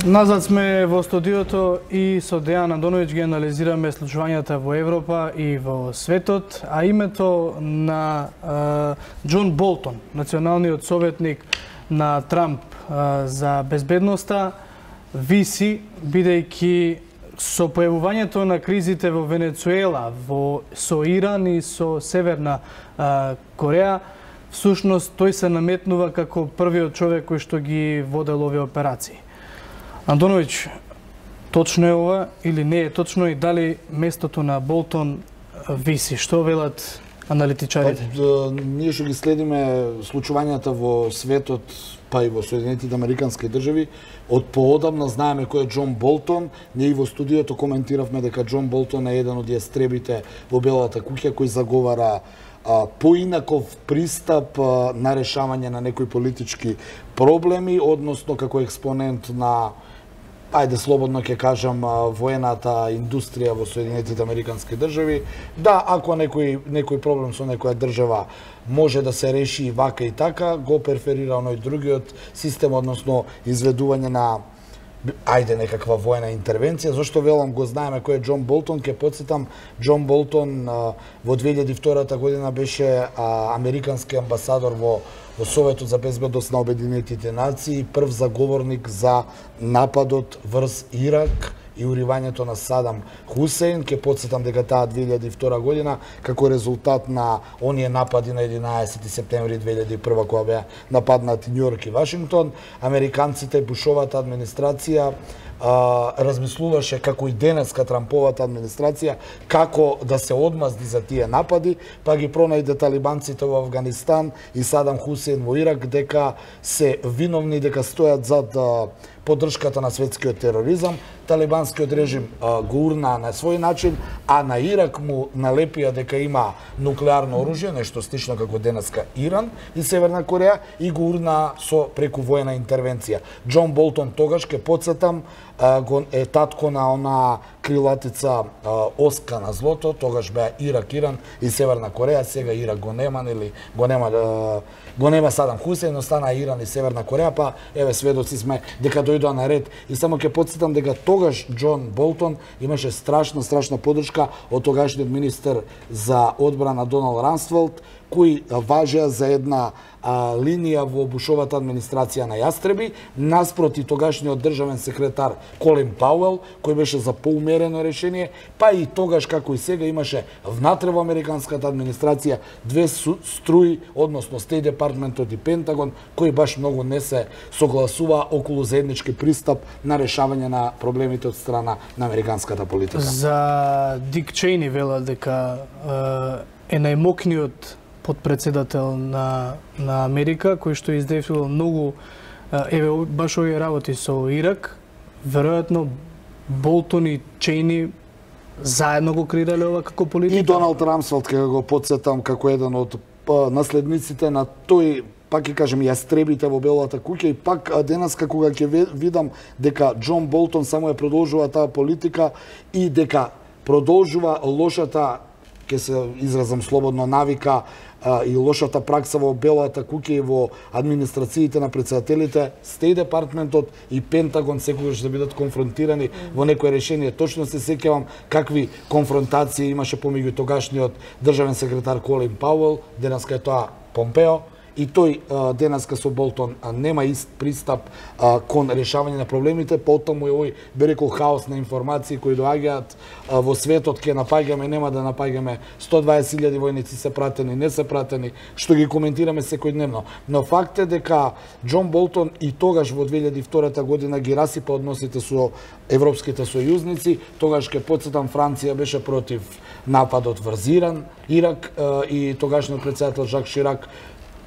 Назад сме во студиото и со Дејан Андоновиќ ги анализираме случувањата во Европа и во светот, а името на Џон Болтон, националниот советник на Трамп за безбедноста, виси, бидејќи со појавувањето на кризите во Венецуела, со Иран и со Северна Кореја, всушност тој се наметнува како првиот човек кој што ги водел овие операции. Андоновиќ, точно е ова или не е точно и дали местото на Болтон виси? Што велат аналитичарите? Ние што ги следиме случувањата во светот, па и во Соединетите Американски држави, од поодамна знаеме кој е Џон Болтон. Ние и во студиото коментиравме дека Џон Болтон е еден од јастребите во Белата куќа кој заговара поинаков пристап на решавање на некои политички проблеми, односно како експонент на, ајде слободно ќе кажам, воената индустрија во Соединетите Американски држави. Да, ако некој проблем со некоја држава може да се реши и вака и така, го преферира оној другиот систем, односно изведување на некаква воена интервенција. Зошто велам го знаеме кој е Џон Болтон? Ке потсетам, Џон Болтон во 2002 година беше американски амбасадор во Советот за безбедност на Обединетите нации, прв заговорник за нападот врз Ирак и уривањето на Садам Хусеин. Ке потсетам дека таа 2002 година, како резултат на оние напади на 11 септември 2001 кога беа нападнати Њујорк и Вашингтон, американците, Бушовата администрација размислуваше, како и денеска Трамповата администрација, како да се одмазди за тие напади, па ги пронајде талибанците во Афганистан и Садам Хусеин во Ирак дека се виновни, дека стојат зад поддршката на светскиот тероризам. Талибанскиот режим го урна на свој начин, а на Ирак му налепија дека има нуклеарно оружје, нешто слично како денеска Иран и Северна Кореја, и го урна со преку воена интервенција. Џон Болтон тогаш, ке потсетам, е татко на она крилатица Оска на злото, тогаш беа Ирак, Иран и Северна Кореја, сега Ирак го нема, нели, го нема Садам Хусеин, остана Иран и Северна Кореја, па еве сведоци сме дека дојдоа на ред. И само ќе потсетам дека тогаш Џон Болтон имаше страшна поддршка од тогашниот министер за одбрана Доналд Рамсфелд, кои важеа за една линија во Бушовата администрација на јастреби, наспроти тогашниот државен секретар Колин Пауел, кој беше за поумерено решение, па и тогаш, како и сега, имаше внатре во американската администрација две струи, односно Стејт департментот и Пентагон, кои баш многу не се согласува околу заеднички пристап на решавање на проблемите од страна на американската политика. За Дик Чейни велат дека е најмокниот подпредседател на Америка, кој што издействувал многу баш овие работи со Ирак. Веројатно Болтон и Чейни заедно го креирале ова како политика. И Доналд Рамсфелд, ке го потсетам, како еден од наследниците на тој, пак ќе кажем, јастребите во Белата куќа, и пак денеска кога ќе видам дека Џон Болтон само ја продолжува таа политика и дека продолжува лошата, ќе се изразам слободно, навика и лошата пракса во Белата куќа и во администрациите на председателите, Стејт департментот и Пентагон секогаш да бидат конфронтирани во некое решение. Точно се сеќавам какви конфронтации имаше помеѓу тогашниот државен секретар Колин Пауел, денеска е тоа Помпео, и тој денеска со Болтон нема ист пристап кон решавање на проблемите, потаму е овој, би рекол, хаос на информации кои доаѓаат во светот, ке напаѓаме, нема да напаѓаме, 120.000 војници се пратени, не се пратени, што ги коментираме секојдневно. Но факт е дека Џон Болтон и тогаш во 2002 година ги расипа односите со европските сојузници. Тогаш, ке потсетам, Франција беше против нападот врз Ирак и тогашниот председател Жак Ширак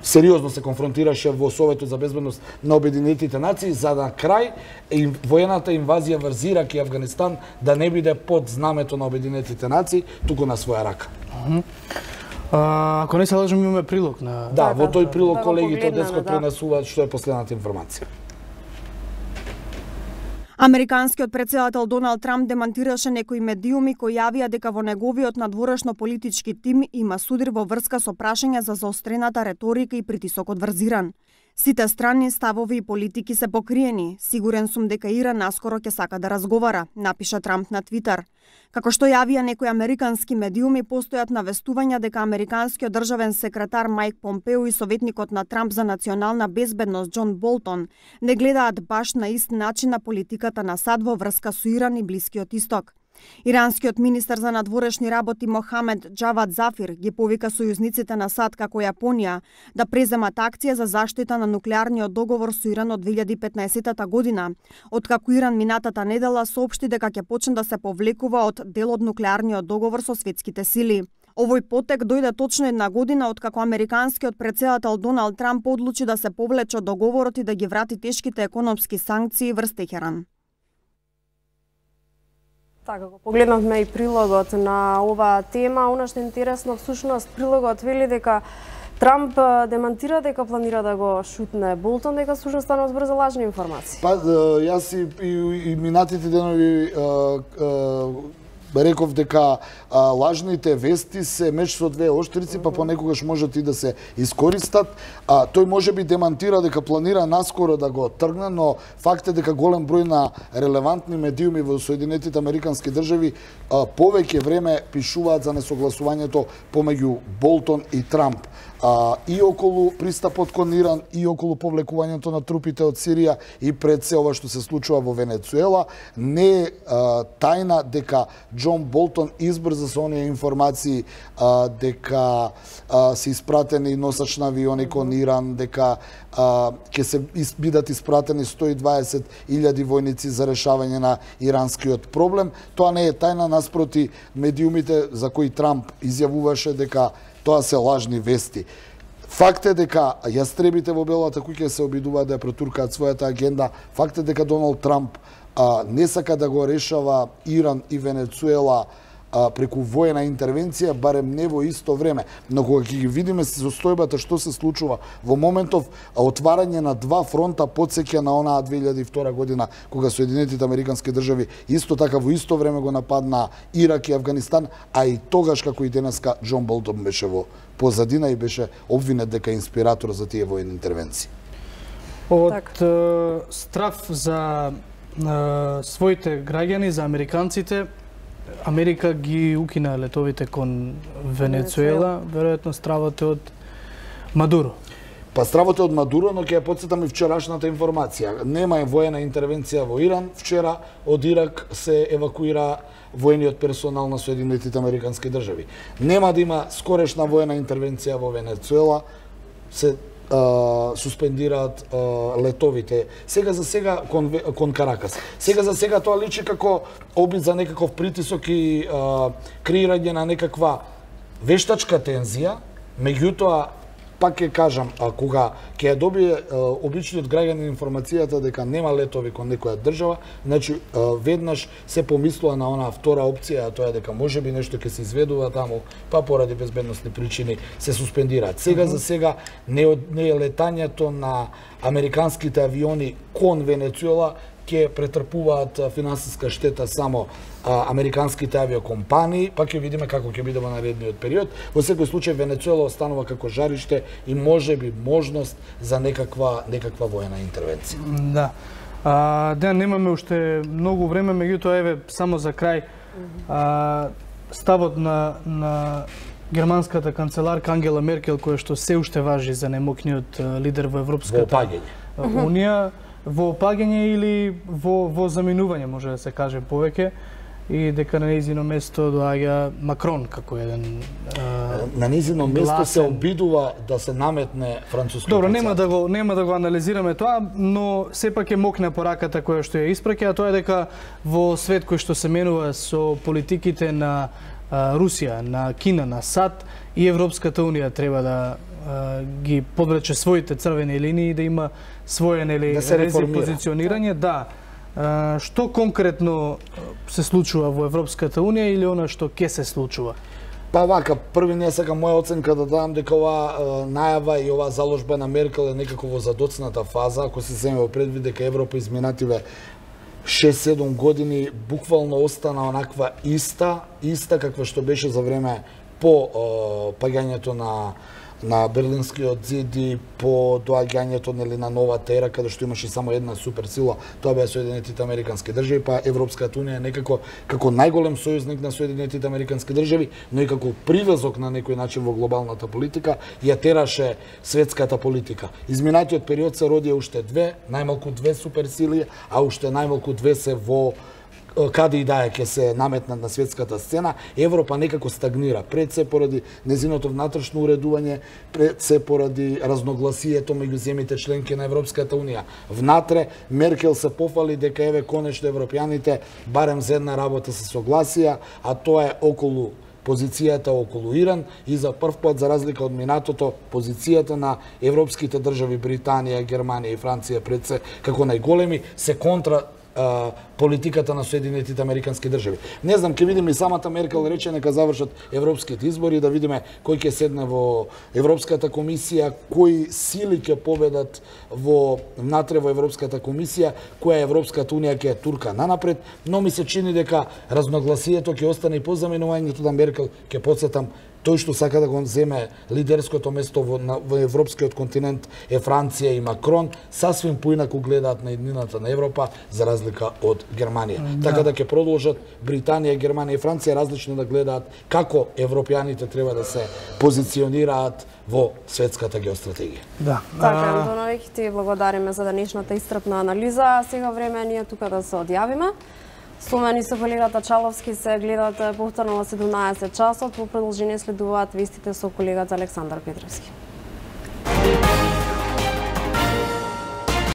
сериозно се конфронтираше во Советот за безбедност на Обединетите нации, за да крај воената инвазија врз Ирак и Афганистан да не биде под знамето на Обединетите нации, туку на своја рака. Ако не се лажам, имаме прилог на... Да, во тој прилог колегите денеска пренесуваат што е последната информација. Американскиот претседател Доналд Трамп демантираше некои медиуми кои јавија дека во неговиот надворешно политички тим има судир во врска со прашања за заострената реторика и притисокот врз Иран. Сите страни, ставови и политики се покриени. Сигурен сум дека Иран наскоро ќе сака да разговара, напиша Трамп на Твитер. Како што јавија некои американски медиуми, постојат навестувања дека американскиот државен секретар Мајк Помпео и советникот на Трамп за национална безбедност Џон Болтон не гледаат баш на ист начин на политиката на САД во врска со Иран и Блискиот Исток. Иранскиот министер за надворешни работи Мохамед Џавад Зафир ги повика сојузниците на САД како Јапонија да преземат акција за заштита на нуклеарниот договор со Иран од 2015 година, откако Иран минатата недела соопшти дека ќе почне да се повлекува од дел од нуклеарниот договор со светските сили. Овој потек дојде точно една година откако американскиот председател Доналд Трамп одлучи да се повлече од договорот и да ги врати тешките економски санкции врз Техеран. Така, го погледнавме и прилогот на оваа тема. Она што е интересно, всушност, прилогот вели дека Трамп демантира дека планира да го шутне Болтон, дека всушност станува збор за лажни информации. Па, јас и минатите денови реков дека лажните вести се меч со двеоштрици, па понекогаш можат и да се искористат. Тој можеби демантира дека планира наскоро да го тргне, но факт е дека голем број на релевантни медиуми во Соединетите Американски држави повеќе време пишуваат за несогласувањето помеѓу Болтон и Трамп. И околу пристапот кон Иран, и околу повлекувањето на трупите од Сирија, и пред се ова што се случува во Венецуела. Не е тајна дека Џон Болтон избрза со оние информации дека се испратени носач на авиони кон Иран, дека ќе се бидат испратени 120.000 војници за решавање на иранскиот проблем. Тоа не е тајна, наспроти медиумите за кои Трамп изјавуваше дека тоа се лажни вести. Факт е дека јастребите во Белата куќа се обидуваат да ја протуркаат својата агенда. Факт е дека Доналд Трамп не сака да го решава Иран и Венецуела преку воена интервенција, барем не во исто време. Но кога ќе ги видиме состојбата што се случува во моментов, отварање на два фронта потсеќа на онаа 2002 година, кога Соединетите Американски држави исто така во исто време го нападна Ирак и Авганистан, а и тогаш како и денеска Џон Болтон беше во позадина и беше обвинет дека е инспиратор за тие воени интервенции. Од страф за своите граѓани, за американците, Америка ги укина летовите кон Венецуела, веројатно стравот од Мадуро. Па стравот од Мадуро, но ќе ја потсетам и вчерашната информација. Нема воена интервенција во Иран. Вчера од Ирак се евакуира воениот персонал на Соединетите Американски држави. Нема да има скорешна воена интервенција во Венецуела. Се суспендираат летовите. Сега за сега кон Каракас. Сега за сега тоа личи како обид за некаков притисок и креирање на некаква вештачка тензија. Меѓутоа, пак ќе кажам, кога ќе ја добие обичниот граѓанин информацијата дека нема летови кон некоја држава, значи веднаш се помислува на онаа втора опција, а тоа е дека можеби нешто ќе се изведува таму, па поради безбедносни причини се суспендираат. Сега за сега не е летањето на американските авиони кон Венецуела ќе претрпуваат финансиска штета само американските авиокомпании, па ќе видиме како ќе биде во наредниот период. Во секој случај Венецуела останува како жариште и можеби можност за некаква воена интервенција. Да. Да, немаме уште многу време, меѓутоа еве само за крај ставот на германската канцеларка Ангела Меркел, која што се уште важи за најмокниот лидер во Европската Унија, во опаѓање или во заминување, може да се каже повеќе, и дека на нејзино место доаѓа Макрон како еден на нејзино место се обидува да се наметне францускиот. Добро, нема да го анализираме тоа, но сепак е мокна пораката која што ја испраќа, а тоа е дека во свет кој што се менува со политиките на Русија, на Кина, на САД, и Европската Унија треба да ги подвлече своите црвени линии и да има своје позиционирање. Да. Што конкретно се случува во Европската Унија или она што ќе се случува? Па вака, први не сакам моја оценка да дадам дека оваа најава и оваа заложба на Меркел е некако во задоцната фаза, ако се земе во предвид дека Европа изминативе 6-7 години буквално остана онаква иста каква што беше за време по паѓањето на на Берлинскиот зид и по доаѓањето на новата ера, каде што имаше само една суперсила, тоа беа Соединетите Американски држави, па Европската унија некако како најголем сојузник на Соединетите Американски држави, но и како привезок на некој начин во глобалната политика, ја тераше светската политика. Изминатиот период се роди уште најмалку две суперсили, а уште најмалку две се во каде и да е ќе се наметнат на светската сцена. Европа некако стагнира, пред се поради незиното внатрешно уредување, пред се поради разногласието меѓу земјите членки на Европската унија. Внатре Меркел се пофали дека еве конечно европјаните барем за една работа се согласија, а тоа е околу позицијата околу Иран и за прв пат, за разлика од минатото, позицијата на европските држави Британија, Германија и Франција пред се како најголеми се контра политиката на Соединетите Американски држави. Не знам, ќе видиме и самата Меркел рече нека завршат европските избори, да видиме кој ќе седне во Европската комисија, кои сили ќе победат внатре во Европската комисија, која Европската унија ќе турка нанапред, но ми се чини дека разногласието ќе остане и по заменувањето на Меркел, ќе потсетам, тој што сака да го земе лидерското место во европскиот континент е Франција и Макрон, сасвим поинаку гледаат на еднината на Европа за разлика од Германија. Така да ќе продолжат Британија, Германија и Франција различно да гледаат како европјаните треба да се позиционираат во светската геостратегија. Да. Така, Антоновиќ, ти благодариме за денешната истрапна анализа. Сега време е ние тука да се одјавиме. Со мене со колегата Чаловски се гледате повторно во 17 часот. Во продолжение следуваат вестите со колегата Александар Петровски.